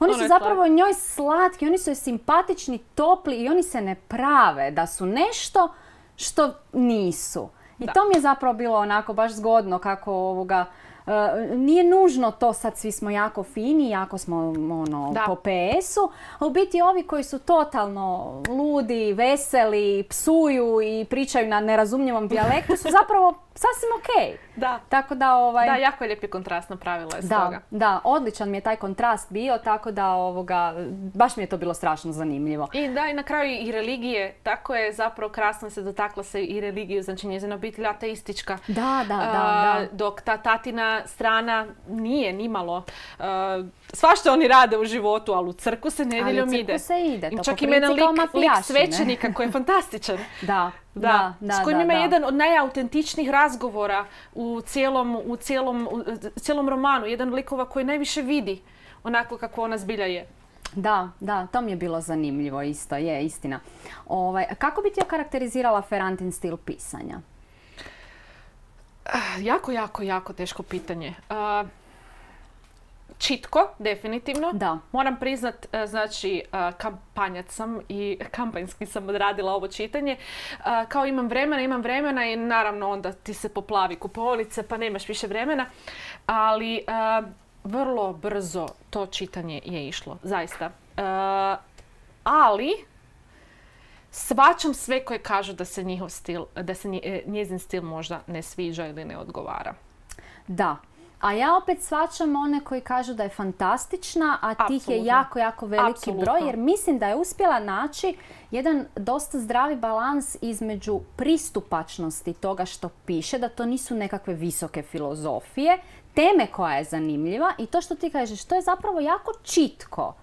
Ono su je zapravo njoj slatki, oni su joj simpatični, topli i oni se ne prave da su nešto što nisu. I Da. to mi je zapravo bilo onako baš zgodno kako ovoga Uh, nije nužno to sad svi smo jako fini, jako smo ono, po P S-u, a u biti ovi koji su totalno ludi, veseli, psuju i pričaju na nerazumljivom dijalektu su zapravo sasvim okej. Da. Tako da, ovaj... da, jako je lijepi kontrast napravila je s da, toga. Da, odličan mi je taj kontrast bio, tako da ovoga, baš mi je to bilo strašno zanimljivo. I da, i na kraju i religije, tako je zapravo krasno se dotakla se i religiju, znači njezina obitelj ateistička. Da, da, da, da. Dok ta tatina strana nije nimalo. Uh, svašta oni rade u životu, ali u crku se nedjeljom ide. Ali u crku se ide, to čak po ima jedan prilici lik, lik svećenika koji je fantastičan. Da. Da, da, da, s kojim da, ima da. jedan od najautentičnijih razgovora u cijelom, u cijelom, u cijelom romanu. Jedan likova koji najviše vidi onako kako ona zbilja je. Da, da, to mi je bilo zanimljivo isto, je istina. Ovaj, kako bi ti okarakterizirala Ferrantin stil pisanja? Uh, jako, jako, jako teško pitanje. Uh, Čitko, definitivno. Da. Moram priznat, znači, kampanjac sam i kampanjski sam odradila ovo čitanje. Kao imam vremena, imam vremena i naravno onda ti se poplavi kupovnice pa nemaš više vremena. Ali vrlo brzo to čitanje je išlo, zaista. Ali shvaćam sve koje kažu da se njihov stil, da se njezin stil možda ne sviđa ili ne odgovara. Da. A ja opet shvaćam one koji kažu da je fantastična, a tih Apsolutno. je jako, jako veliki Apsolutno. broj, jer mislim da je uspjela naći jedan dosta zdravi balans između pristupačnosti toga što piše, da to nisu nekakve visoke filozofije, teme koja je zanimljiva i to što ti kažeš, to je zapravo jako čitko.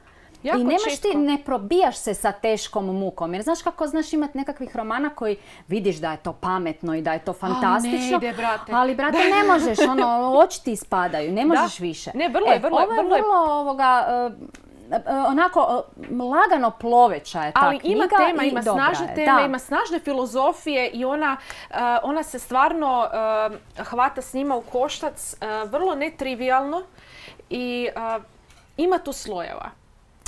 Jako I nemaš čitko. ti, ne probijaš se sa teškom mukom. Jer znaš kako znaš imati nekakvih romana koji vidiš da je to pametno i da je to fantastično. Ali ne ide, brate. Ali, brate, ne možeš, ono, oči ti ispadaju, ne možeš Da. više. Ne, vrlo je, E, vrlo je, ovo je vrlo je. vrlo ovoga, uh, uh, onako, uh, lagano ploveća je ta Ali knjiga ima tema, i ima dobra snažne je. teme, Da. ima snažne filozofije i ona, uh, ona se stvarno uh, hvata s njima u koštac uh, vrlo netrivijalno i uh, ima tu slojeva.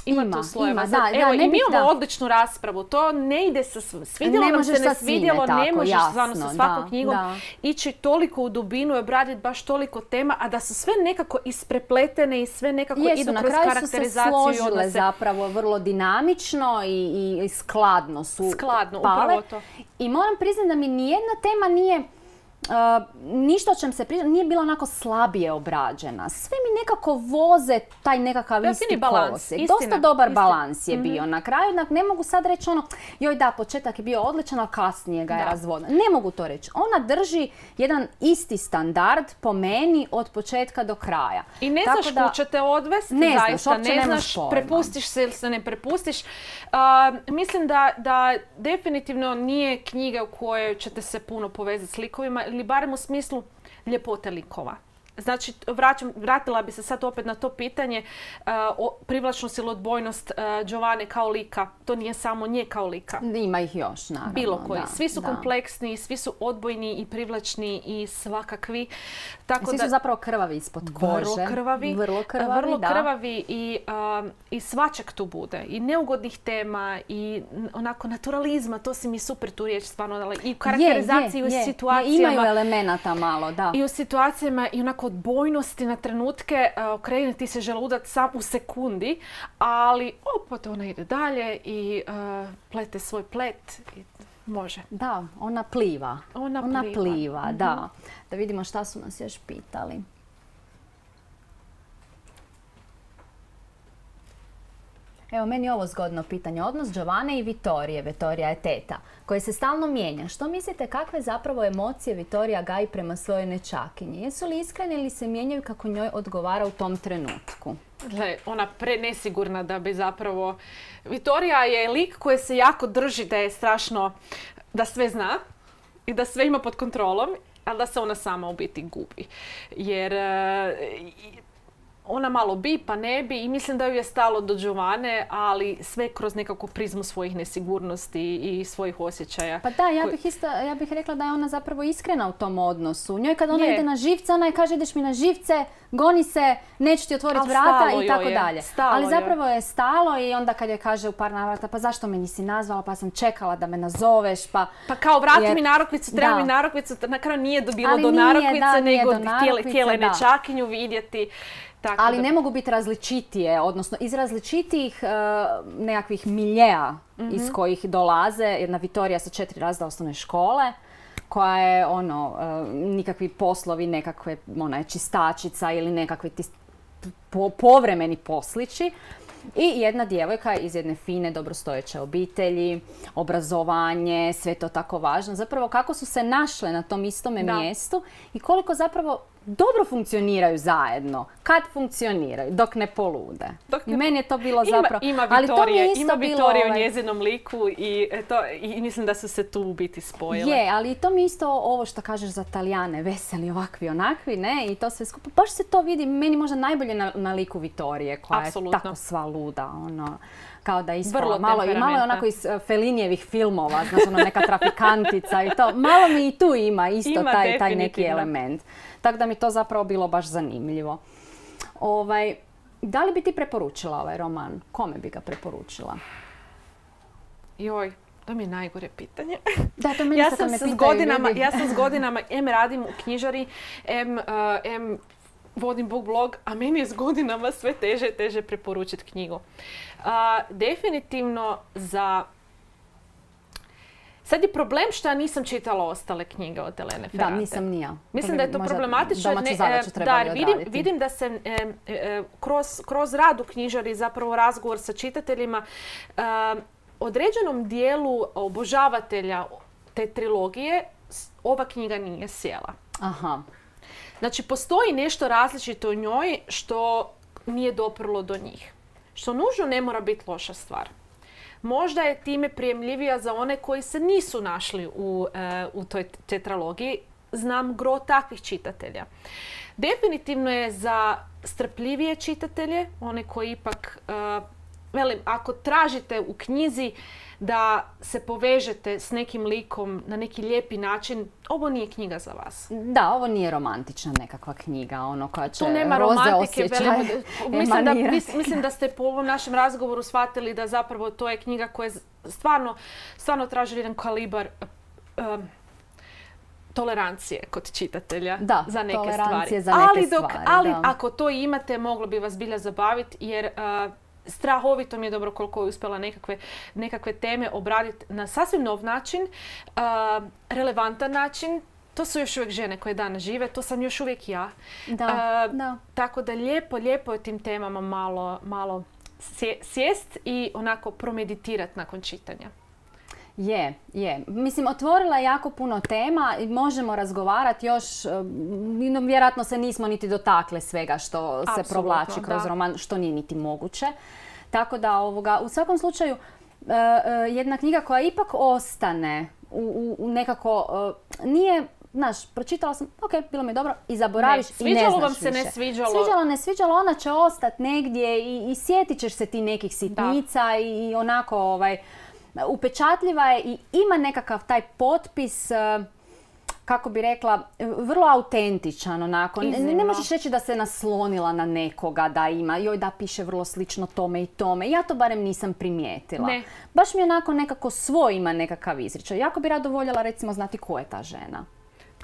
Ima, Ima, tu slojeva. ima, Zato, da, evo, da, ne i mi bih, imamo da. odličnu raspravu. To ne ide sa sv- svidjelo Ne nam se, možeš ne sa svime svidjelo, ne tako, možeš jasno, stvarno sa svakom da, knjigom da. ići toliko u dubinu i obraditi baš toliko tema, a da su sve nekako isprepletene i sve nekako Jesu, idu na kroz kraju su se karakterizaciju i složile odnose. zapravo vrlo dinamično i, i, i skladno su Skladno, pale. upravo to. I moram priznati da mi nijedna tema nije Uh, ništa o čem se priča, nije bila onako slabije obrađena. Sve mi nekako voze taj nekakav Da, isti fini balans, kolosijek. istina, Dosta dobar istina. balans je bio. Na kraju jednak ne mogu sad reći ono, joj da, početak je bio odličan, ali kasnije ga je Da. razvodno. Ne mogu to reći. Ona drži jedan isti standard po meni od početka do kraja. I ne Tako znaš da- kud će te odvesti, Ne znaš, zaista. uopće Ne nemaš znaš, pojma. prepustiš se ili se ne prepustiš. Uh, mislim da, da definitivno nije knjiga u kojoj ćete se puno povezati s likovima, ili barem u smislu ljepote likova. Znači, vraćam, vratila bi se sad opet na to pitanje uh, o privlačnost ili odbojnost uh, Giovanne kao lika. To nije samo nje kao lika. Ima ih još, naravno. Bilo koji. Da, Svi su da. kompleksni, svi su odbojni i privlačni i svakakvi. Tako Svi da, su zapravo krvavi ispod kože. vrlo krvavi, Vrlo krvavi, vrlo da. krvavi i, um, i svačeg tu bude. I neugodnih tema i n- onako naturalizma, to si mi super tu riječ stvarno dala. I u karakterizaciji, Je, je, u je. situacijama. Imaju elemenata malo, da. I u situacijama i onako odbojnosti na trenutke, uh, okrene ti se želudac sam u sekundi, ali opet ona ide dalje i uh, plete svoj plet i može. Da, ona pliva. Ona Ona pliva. pliva, da. Da vidimo šta su nas još pitali. Evo, meni je ovo zgodno pitanje. Odnos Giovanne i Vittorije, Vittorija je teta, koje se stalno mijenja. Što mislite, kakve zapravo emocije Vittorija gaji prema svojoj nečakinji? Jesu li iskrene ili se mijenjaju kako njoj odgovara u tom trenutku? Gle, ona prenesigurna da bi zapravo... Vittorija je lik koji se jako drži da je strašno, da sve zna i da sve ima pod kontrolom, ali da se ona sama u biti gubi. Jer e, ona malo bi, pa ne bi i mislim da ju je stalo do Giovanne, ali sve kroz nekakvu prizmu svojih nesigurnosti i svojih osjećaja. Pa da, ja bih, isto, ja bih rekla da je ona zapravo iskrena u tom odnosu. Njoj kad ona je. ide na živce, ona je kaže ideš mi na živce, goni se, neću ti otvoriti vrata i tako dalje. Stalo ali zapravo je stalo i onda kad je kaže u par navrata pa zašto me nisi nazvala, pa sam čekala da me nazoveš, pa... Pa kao vrati jer... mi narukvicu, treba mi narukvicu, na kraju nije dobilo do narukvice, nego htjela je nečakinju vidjeti. Tako ali da... ne mogu biti različitije, odnosno iz različitih uh, nekakvih miljeja mm-hmm. iz kojih dolaze. Jedna Vitorija sa četiri razreda osnovne škole, koja je ono, uh, nikakvi poslovi, nekakve, ona je čistačica ili nekakvi tis, po, povremeni poslići. I jedna djevojka iz jedne fine, dobrostojeće obitelji, obrazovanje, sve to tako važno. Zapravo kako su se našle na tom istome da. mjestu i koliko zapravo dobro funkcioniraju zajedno. Kad funkcioniraju, dok ne polude. Dok ne... I meni je to bilo zapravo... Ima, ima Vitorije, ima Vitorije ovaj... u njezinom liku i, to, i mislim da su se tu u biti spojile. Je, ali to mi isto ovo što kažeš za Talijane, veseli, ovakvi, onakvi, ne? I to sve skupo. Baš se to vidi, meni možda najbolje na, na liku Vitorije, koja Apsolutno. je tako sva luda, ono... Kao da ispala malo i malo je onako iz Fellinijevih filmova, znači ono neka trafikantica i to. Malo mi i tu ima isto ima, taj, taj neki element. Tako da mi to zapravo bilo baš zanimljivo. Ovaj, da li bi ti preporučila ovaj roman? Kome bi ga preporučila? Joj, to mi je najgore pitanje. Da, to meni ja, sam sam me s godinama, ja sam s godinama, em radim u knjižari, em... Uh, em vodim book blog, a meni je s godinama sve teže i teže preporučiti knjigu. A, definitivno za... Sad je problem što ja nisam čitala ostale knjige od Elene Ferrante. Da, nisam ni ja. Mislim da je to problematično. Ne, da, vidim, vidim da se e, e, kroz, kroz rad u knjižari, zapravo razgovor sa čitateljima, e, određenom dijelu obožavatelja te trilogije ova knjiga nije sjela. Aha. Znači, postoji nešto različito u njoj što nije doprlo do njih. Što nužno ne mora biti loša stvar. Možda je time prijemljivija za one koji se nisu našli u, e, u toj tetralogiji. Znam gro takvih čitatelja. Definitivno je za strpljivije čitatelje, one koji ipak, e, velim, ako tražite u knjizi da se povežete s nekim likom na neki lijepi način, ovo nije knjiga za vas. Da, ovo nije romantična nekakva knjiga, ono koja će tu nema roze romantike, osjećaje mislim da, mislim da ste po ovom našem razgovoru shvatili da zapravo to je knjiga koja stvarno, stvarno traži jedan kalibar um, tolerancije kod čitatelja da, za neke stvari. Za neke ali dok, stvari, ali da. ako to imate, moglo bi vas bilja zabaviti jer uh, strahovito mi je dobro koliko je uspjela nekakve, nekakve teme obraditi na sasvim nov način, uh, relevantan način. To su još uvijek žene koje danas žive, to sam još uvijek ja. Da, uh, da. Tako da lijepo, lijepo je tim temama malo, malo sjest i onako promeditirati nakon čitanja. Je, je. Mislim, otvorila je jako puno tema i možemo razgovarati još, no, vjerojatno se nismo niti dotakle svega što Apsolutno, se provlači kroz da. roman, što nije niti moguće. Tako da, ovoga, u svakom slučaju, uh, uh, jedna knjiga koja ipak ostane u, u, u nekako, uh, nije, znaš, pročitala sam, ok, bilo mi je dobro, i zaboraviš ne, i ne znaš vam se više. ne sviđalo. Sviđalo, ne sviđalo, ona će ostati negdje i, i sjetit ćeš se ti nekih sitnica da. i, i onako, ovaj, upečatljiva je i ima nekakav taj potpis, kako bi rekla, vrlo autentičan onako. Ne, ne možeš reći da se naslonila na nekoga, da ima, joj da piše vrlo slično tome i tome. Ja to barem nisam primijetila. Ne. Baš mi onako nekako svoj ima nekakav izričaj. Jako bi rado voljela recimo znati ko je ta žena.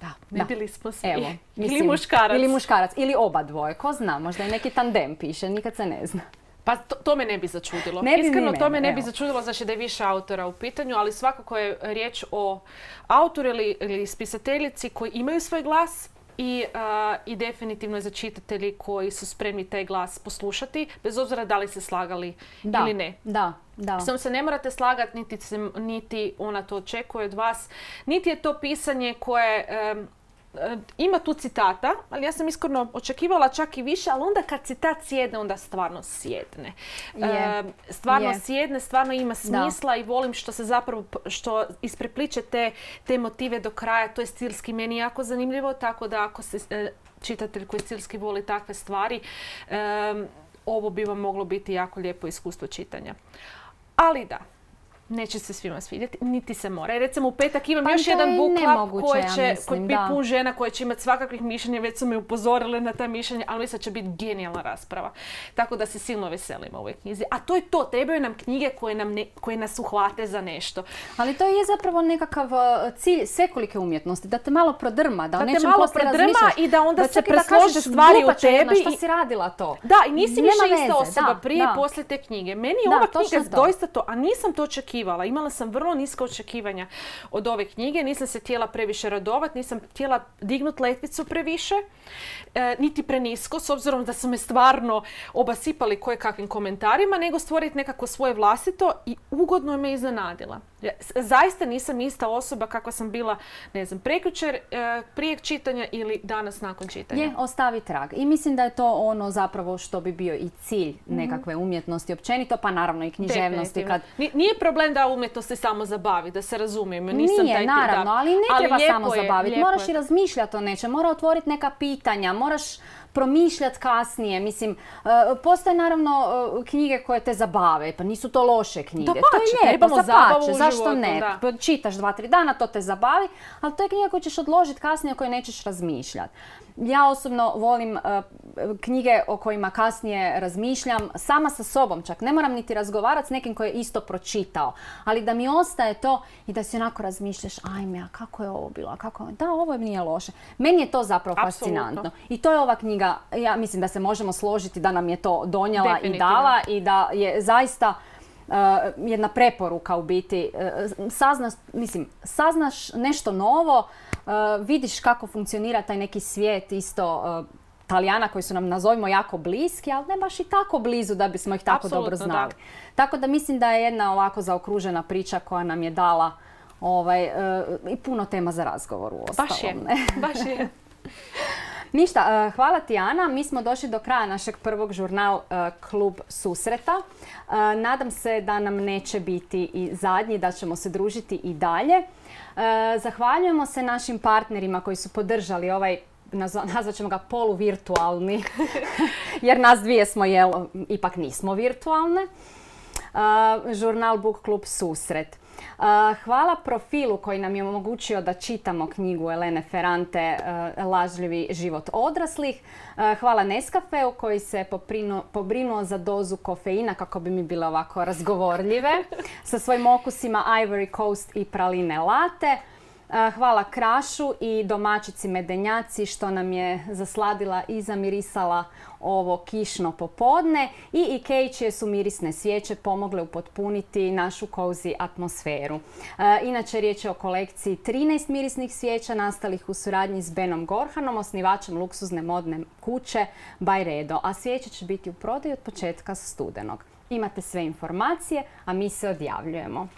Da, ne da. bili smo svi. Evo, mislim, ili muškarac. Ili muškarac, ili oba dvoje, ko zna, možda je neki tandem piše, nikad se ne zna. Pa to, to me ne bi začudilo. Ne bi Iskreno, mene, to me ne evo. bi začudilo, znači da je više autora u pitanju, ali svakako je riječ o autoru ili, ili spisateljici koji imaju svoj glas i, uh, i definitivno je za čitatelji koji su spremni taj glas poslušati, bez obzira da li se slagali da, ili ne. Da, da. Samo se ne morate slagati, niti, se, niti ona to očekuje od vas, niti je to pisanje koje... Um, ima tu citata, ali ja sam iskreno očekivala čak i više, ali onda kad citat sjedne, onda stvarno sjedne. Je. E, stvarno je. sjedne, stvarno ima smisla da. I volim što se zapravo, što isprepliče te, te motive do kraja. To je stilski meni jako zanimljivo, tako da ako se e, čitatelj koji stilski voli takve stvari, um, ovo bi vam moglo biti jako lijepo iskustvo čitanja. Ali da, neće se svima svidjeti, niti se mora. I recimo u petak imam pa još jedan book club koji će ja mislim, biti pun žena koje će imati svakakvih mišljenja, već su me upozorile na ta mišljenja, ali mislim da će biti genijalna rasprava. Tako da se silno veselimo u ovoj knjizi. A to je to, trebaju nam knjige koje, nam ne, koje nas uhvate za nešto. Ali to je zapravo nekakav cilj svekolike umjetnosti, da te malo prodrma, da, da o nečem te malo prodrma i da onda da se preslože stvari u tebi. Šta si radila to? Da, i nisi Nema više ista veze, osoba da, prije da. i poslije te knjige. Meni je Da, ova točno knjiga to. doista to, a nisam to očekivala. Imala sam vrlo niska očekivanja od ove knjige, nisam se htjela previše radovati, nisam htjela dignuti letvicu previše, e, niti prenisko, s obzirom da su me stvarno obasipali koje kakvim komentarima, nego stvoriti nekako svoje vlastito i ugodno me iznenadila. Zaista nisam ista osoba kakva sam bila, ne znam, prekjučer, e, prije čitanja ili danas nakon čitanja. Je, ostavi trag. I mislim da je to ono zapravo što bi bio i cilj nekakve umjetnosti općenito, pa naravno i književnosti. Kad... Nije problem da umjetnost se samo zabavi, da se razumijemo. Nisam Nije, taj naravno, da. ali ne treba ali samo je, zabaviti. Moraš je. i razmišljati o nečem, mora otvoriti neka pitanja, moraš promišljati kasnije. Mislim, uh, postoje naravno uh, knjige koje te zabave, pa nisu to loše knjige. Dapače, to je lijepo, trebamo zabavu u zašto životu, ne? Da. Čitaš dva, tri dana, to te zabavi, ali to je knjiga koju ćeš odložiti kasnije, o kojoj nećeš razmišljati. Ja osobno volim uh, knjige o kojima kasnije razmišljam sama sa sobom čak. Ne moram niti razgovarati s nekim koji je isto pročitao, ali da mi ostaje to i da si onako razmišljaš, ajme, a kako je ovo bilo, a kako je... Da, ovo nije loše. Meni je to zapravo Apsolutno. fascinantno. I to je ova knjiga, ja mislim da se možemo složiti da nam je to donijela i dala i da je zaista uh, jedna preporuka u biti. Uh, saznaš, mislim, saznaš nešto novo, Uh, vidiš kako funkcionira taj neki svijet isto uh, Talijana koji su nam, nazovimo, jako bliski, ali ne baš i tako blizu da bismo ih tako Apsolutno, dobro znali. Da. Tako da mislim da je jedna ovako zaokružena priča koja nam je dala ovaj, uh, i puno tema za razgovor u ostalom. Baš je, baš je. Ništa, hvala ti Ana. Mi smo došli do kraja našeg prvog žurnal Klub susreta. Nadam se da nam neće biti i zadnji, da ćemo se družiti i dalje. Zahvaljujemo se našim partnerima koji su podržali ovaj, nazvat ćemo ga poluvirtualni, jer nas dvije smo, jel, ipak nismo virtualne. Žurnal Book Klub Susret. Hvala profilu koji nam je omogućio da čitamo knjigu Elene Ferrante Lažljivi život odraslih. Hvala Nescafeu koji se pobrinuo za dozu kofeina kako bi mi bile ovako razgovorljive sa svojim okusima Ivory Coast i praline latte. Hvala Krašu i domaćici Medenjaci što nam je zasladila i zamirisala ovo kišno popodne, i Ikei čije su mirisne svijeće pomogle upotpuniti našu cozy atmosferu. E, inače riječ je o kolekciji trinaest mirisnih svijeća nastalih u suradnji s Benom Gorhanom, osnivačem luksuzne modne kuće Byredo, a svijeće će biti u prodaju od početka studenog. Imate sve informacije, a mi se odjavljujemo.